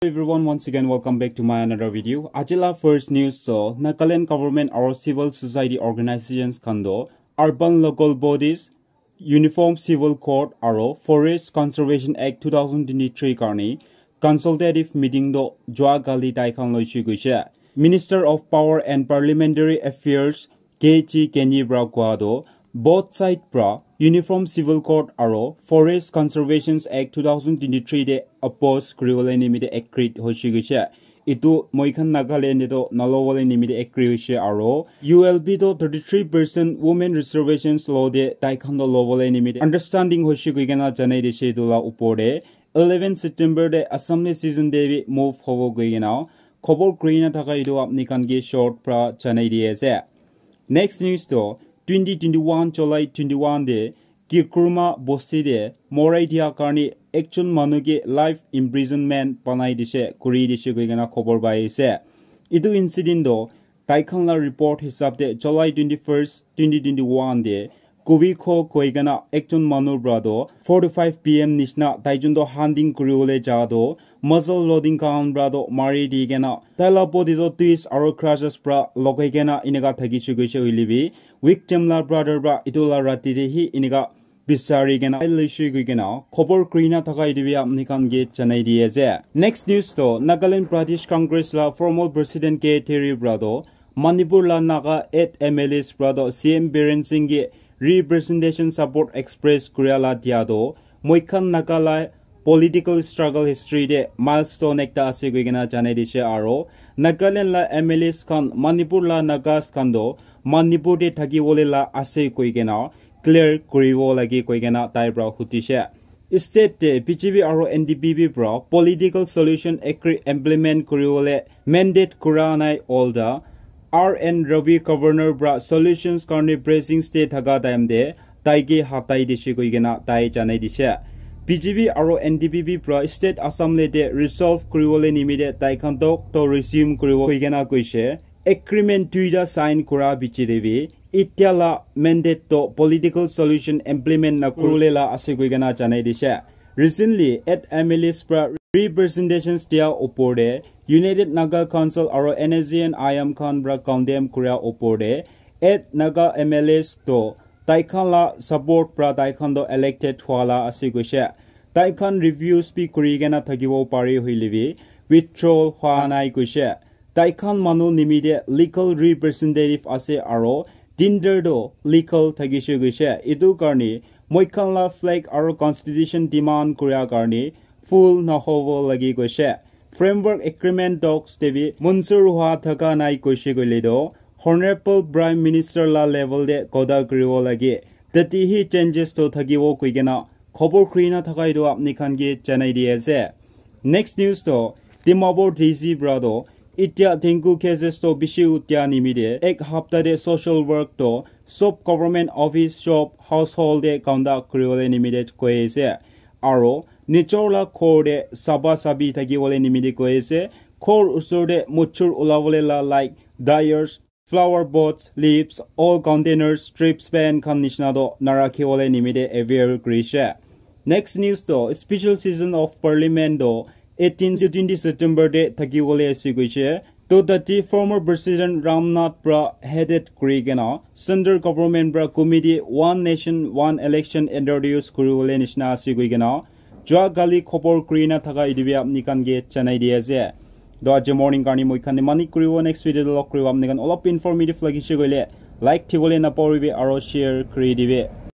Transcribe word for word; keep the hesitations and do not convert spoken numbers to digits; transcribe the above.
Everyone, once again welcome back to my another video. Ajila first news to Nagaland government aro civil society organizations khan do urban local bodies, Uniform Civil Code aro Forest Conservation Act two thousand twenty-three karni consultative meeting do jua gali tai khan loishi goishe. Minister of Power and Parliamentary Affairs K G Kenny pra koa do both side pra Uniform Civil Code aro Forest Conservation Act two thousand twenty-three de oppose kuriwole nimite agreed hoishi goishe. Itu moi khan Nagaland de to nalobole nimite agree hoishe aro U L B to thirty-three percent women reservations law de tai khan to lobole nimite understanding hoishe koi kena janai dishe itu la upor de eleven September de Assembly season de bi move hobo koi kena khobor kuri na thaka itu apni khan ke short pra janai di ase. Next news to twenty twenty-one July twenty-one de Kikuruma bosti de morai dia karni ekjon manu ke life imprisonment banai dishe kuri dishe koi kena khobor pai ase. Itu incident do tai khan la report hisab de July twenty-first, twenty twenty-one de Kubi Kho koi kena ekjon manu pra do four to five P M nishna tai jun do hunting kuriwole ja do muzzle loading khan pra do mari di kena tai la body do twist aro crushes pra logai kena inika thaki shu goishe hoile bi victim la brother pra itu la rati de hi inika bisari kena loishi goi kena khobor kuri na thaka itu bi apni khan ke janai di ase. Next news to Nagaland Pradesh Congress la former president K Terry pra do Manipur la Naga eight M L As pra do C M Biren Singh ke representation support express kuria la dia do moi khan Naga la political struggle history de milestone ekta ase koi kena janai dishe aro Nagaland la M L As khan Manipur la Nagas khan do Manipur de thaki wole la ase koi kena clear kuriwo lage koi kena tai pra hutishe. State te B J P aro N D P P pra political solution agree implement kuriwole mandate kura nai all the R N Ravi governor pra solutions karni pressing state thaka time de tai ke hatai dishe koi kena tai janai dishe. B J P aro N D P P pra state Assembly de resolve kuriwole nimite tai khan tok to resume kuriwo koi kena koishe. Agreement duita sign kura bichi de bi itia la mandate to political solution implement na kurule la ase koi kena janai dishe. Recently, eight M L As pra representations dia upor de United Naga Council aro N S C N I M khan pra condemn kuria upor de eight Naga M L As to tai khan la support pra tai khan to elected hua la ase koishe. Tai khan reviews bi kuri kena thakibo pari hoile bi withdrawal hua nai koishe. Tai khan manu nimite legal representative ase aro tender do legal thakishe goishe. Itu karni moi khan la flag aro constitution demand kuria karni full nahobo lagi goishe. Framework agreement talks te bi munsur hua thaka nai koishe koile do Honorable Prime Minister la level de koda kuribo lage. Tati hi changes to thakibo koi kena khobor kuri na thaka itu apni khan ke janai di ase. Next news to Dimapur D C pra do itia dengue cases to bishi utia nimite ek hapta de social work to sob government office, shop, household de conduct kuriwole nimite koi ase. Aro nijor la ghor de saba sabi thakiwole nimite koi ase. Ghor usor de muchur ulawole la like dryers, flower pots, leaves, all containers, strips, pan khan nishina to narakhiwole nimite aware kurishe. Next news to special session of parliament to eighteen to twenty September de thakiwole ase koishe. To tati former president Ramnath pra headed kuri kena central government pra committee one nation one election introduce kuriwole nishina ase koi kena jua kali khobor kuri na thaka itu bi apni khan ke janai di ase. To aji morning karni moi khan imani kuribo, next video de log kuribo. Apni khan olop informative lagise koile like thibole napahoribi aro share kuri dibi.